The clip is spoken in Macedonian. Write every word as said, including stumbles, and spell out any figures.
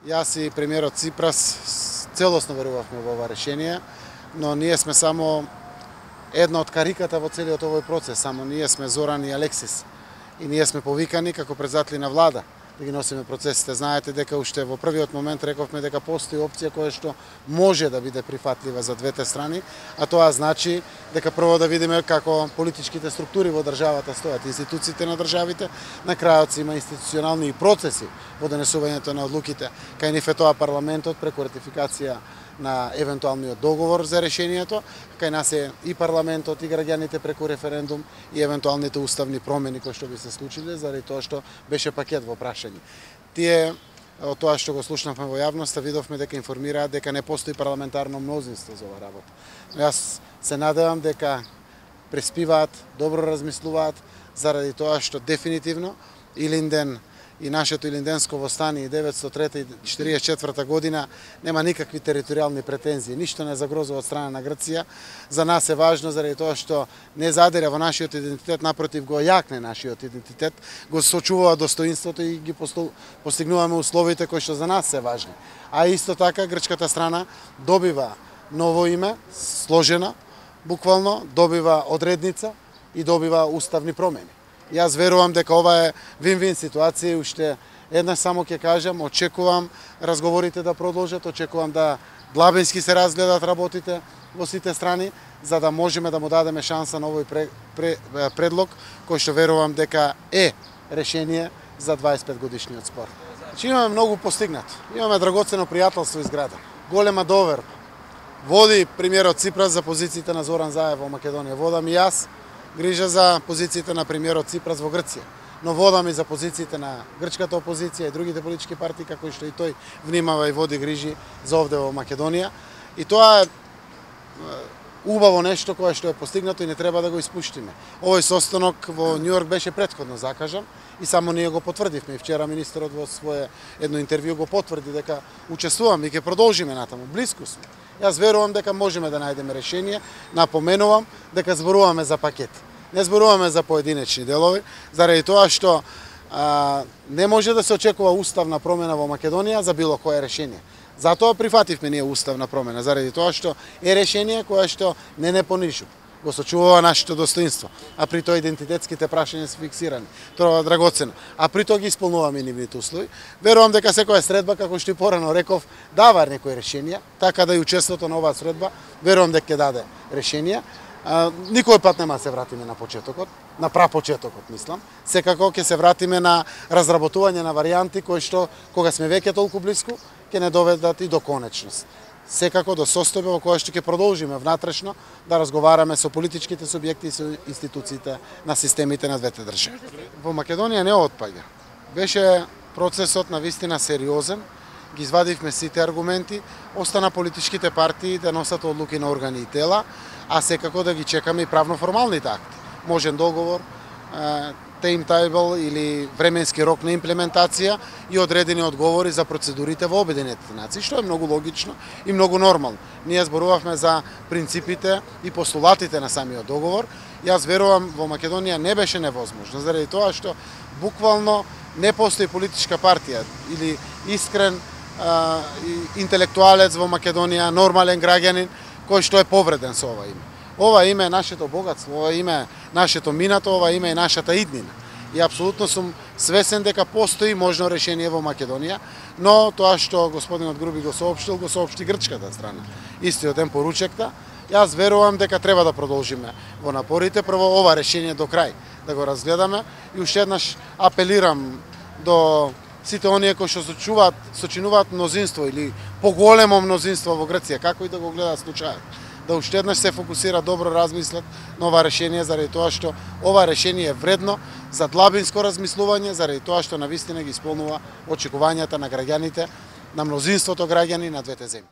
Јас и премиерот Ципрас целосно верувавме во ова решение, но ние сме само една од кариката во целиот овој процес, само ние сме Зоран и Алексис. И ние сме повикани како председатели на влада да ги носиме процесите. Знаете дека уште во првиот момент рековме дека постои опција која што може да биде прифатлива за двете страни, а тоа значи дека прво да видиме како политичките структури во државата стојат, институциите на државите, на крајот се има институционални процеси во донесувањето на одлуките. Кај нив е тоа парламентот преку ратификација на евентуалниот договор за решението, кај нас е и парламентот и граѓаните преку референдум и евентуалните уставни промени кои што би се случиле заради тоа што беше пакет во прашање. Тие од тоа што го слушнавме во јавноста видовме дека информираат дека не постои парламентарно мнозинство за оваа работа. Но јас се надевам дека преспиваат, добро размислуваат заради тоа што дефинитивно Илинден и нашето Илинденско востание деветстотини и трета и четиридесет и четврта година нема никакви територијални претензии, ништо не загрозува од страна на Грција. За нас е важно заради тоа што не задира во нашиот идентитет, напротив го јакне нашиот идентитет, го сочувува достоинството и ги постигнуваме условите кои што за нас се важни. А исто така грчката страна добива ново име, сложена, буквално добива одредница и добива уставни промени. Јас верувам дека ова е вин-вин ситуација и уште еднаш само ќе кажам, очекувам разговорите да продолжат, очекувам да длабински се разгледат работите во сите страни, за да можеме да му дадеме шанса на овој пре, пре, предлог, кој што верувам дека е решение за дваесет и пет годишниот спор. Че имаме многу постигнато. Имаме драгоцено пријателство изградено. Голема доверба. Води премиерот Ципрас за позициите на Зоран Заев во Македонија. Водам и јас грижа за позициите на премиерот Ципрас во Грција, но водам и за позициите на грчката опозиција и другите политички партии, како што и тој внимава и води грижи за овде во Македонија. И тоа е убаво нешто кое што е постигнато и не треба да го испуштиме. Овој состанок во Њујорк беше претходно закажан и само ние го потврдивме. И вчера министерот во свое едно интервју го потврди дека учествуваме и ќе продолжиме натаму. Блиску сме. Јас верувам дека можеме да најдеме решение. Напоменувам дека зборуваме за пакет. Не зборуваме за поединечни делови, заради тоа што а, не може да се очекува уставна промена во Македонија за било кое решение. Затоа прифативме ние уставна промена, заради тоа што е решение кое што не не понижува, го сочувува нашето достоинство, а при тоа идентитетските прашања се фиксирани. Тоа е драгоцено. А при тоа ги исполнуваме нивните услови. Верувам дека секоја средба, како што и порано реков, дава некои решенија, така да и учеството на оваа средба, верувам дека ќе даде решенија. А, никој пат нема да се вратиме на почетокот, на прапочетокот, мислам. Секако ќе се вратиме на разработување на варијанти кои што, кога сме веќе толку блиску, ќе не доведат и до конечност. Секако до состојба во која што ќе продолжиме внатрешно да разговараме со политичките субјекти и со институциите на системите на двете држави. Во Македонија не отпаѓа. Беше процесот на вистина сериозен, ги извадивме сите аргументи, остана политичките партии да носат одлуки на органи и тела, а секако да ги чекаме и правно-формалните акти. Можен договор, таймтейбл или временски рок на имплементација и одредени одговори за процедурите во Обединетите нации, што е многу логично и многу нормално. Ние зборувавме за принципите и постулатите на самиот договор. Јас верувам во Македонија не беше невозможно, заради тоа што буквално не постои политичка партија или искрен а, интелектуалец во Македонија, нормален граѓанин кој што е повреден со ова име. Ова име е нашето богатство, ова име е нашето минато, ова име е нашата иднина. И апсолутно сум свесен дека постои можно решение во Македонија, но тоа што господинот Груби го соопштил, го соопшти грчката страна. Истиот ден поручекта. Јас верувам дека треба да продолжиме во напорите, прво ова решение до крај да го разгледаме и уште еднаш апелирам до сите оние кои што сочуваат, сочинуваат мнозинство или поголемо мнозинство во Грција, како и да го гледаат случајот, да уште еднаш се фокусира, добро размислат на ова решение, заради тоа што ова решение е вредно за длабинско размислување, заради тоа што навистина ги исполнува очекувањата на граѓаните, на мнозинството граѓани на двете земји.